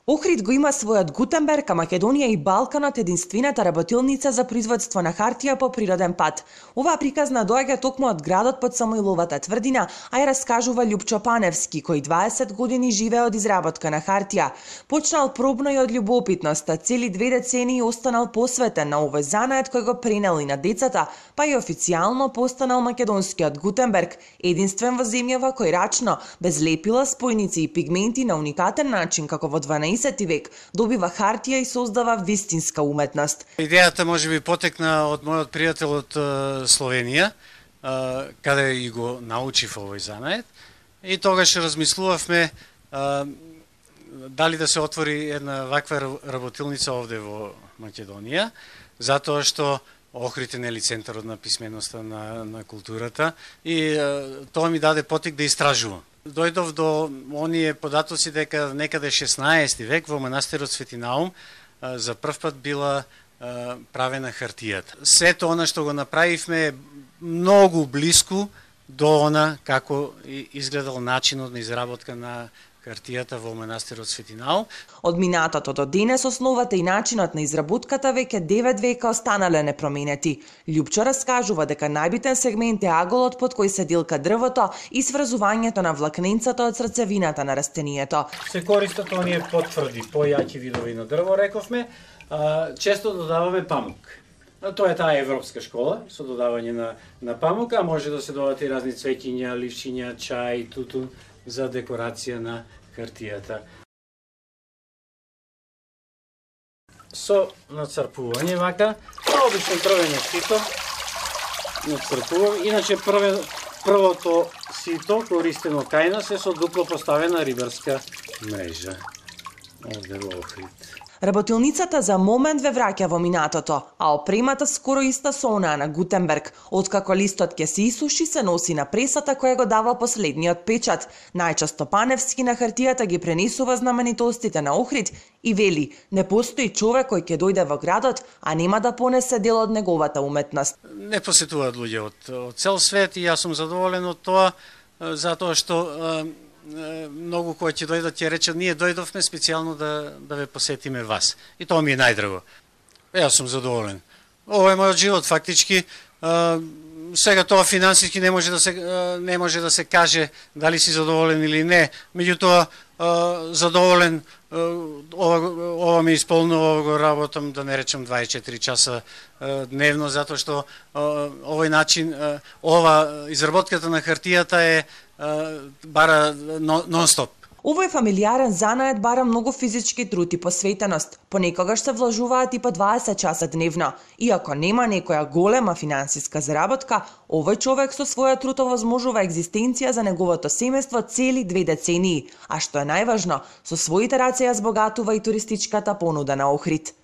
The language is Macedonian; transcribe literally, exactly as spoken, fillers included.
Охрид го има својот Гутенберг, а Македонија и Балканот единствената работилница за производство на хартија по природен пат. Оваа приказна доаѓа токму од градот под Самоиловата тврдина, а ја раскажува Љупчо Паневски, кој дваесет години живее од изработка на хартија. Почнал пробно и од љубопитност, а цели две децении останал посветен на овој занает кој го пренел и на децата, па и официјално постанал македонскиот Гутенберг, единствен во земјава кој рачно, без лепила, спојници и пигменти на уникатен начин како во дванаесети век добива хартија и создава вистинска уметност. Идејата можеби потекна од мојот пријател од Словенија, каде и го научив овој занает, и тогаш размислувавме дали да се отвори една ваква работилница овде во Македонија, затоа што Охрид е нели центарот на писменоста, на, на културата, и тоа ми даде потик да истражувам. Дојдов до оние податоци дека некаде шеснаесети век во манастирот Свети Наум за прв пат била правена хартијата. Сето она што го направивме е многу блиску до она како изгледал начинот на изработка на хартијата во манастирот Свети Наум. Од минатото до денес основата и начинот на изработката веќе девет века останале непроменети. Љупчо раскажува дека најбитен сегмент е аголот под кој се дилка дрвото и сврзувањето на влакненцата од срцевината на растението. Се користат оние потврди, појаки видови на дрво, рековме, а, често додаваме памук. Тоа е таа европска школа со додавање на, на памук, а може да се додадат и разни цвеќиња, ливчиња, чај, тутун за декорација на хартијата. Со нацрпување вака, обично првење сито, нацрпувам, иначе прве, првото сито користено кај нас е со дупло поставена рибарска мрежа. Овде во Охрид. Работилницата за момент ве враќа во минатото, а опремата скоро иста со онаа на Гутенберг. Откако листот ќе се исуши, се носи на пресата која го дава последниот печат. Најчесто Паневски на хартијата ги пренесува знаменитостите на Охрид и вели: не постои човек кој ќе дојде во градот, а нема да понесе дел од неговата уметност. Не посетуваат луѓе од, од цел свет и јас сум задоволен од тоа, затоа што многу кои ќе дојдат ќе речат ние дојдовме специјално да да ве посетиме вас. И тоа ми е најдраго. Јас сум задоволен. Ова е мојот живот фактички. Сега тоа финансиски не може да се не може да се каже дали си задоволен или не. Меѓутоа задоволен, ова ова ми исполнува, ова го работам, да не речам дваесет и четири часа дневно, затоа што овој начин, ова изработката на хартијата е бара нон-стоп. Овој фамилиарен занает бара многу физички труд и посветеност. Понекогаш се влажуваат и по дваесет часа дневно. Иако нема некоја голема финансиска заработка, овој човек со својот труд овозможува екзистенција за неговото семејство цели две децении. А што е најважно, со своите раце ја збогатува и туристичката понуда на Охрид.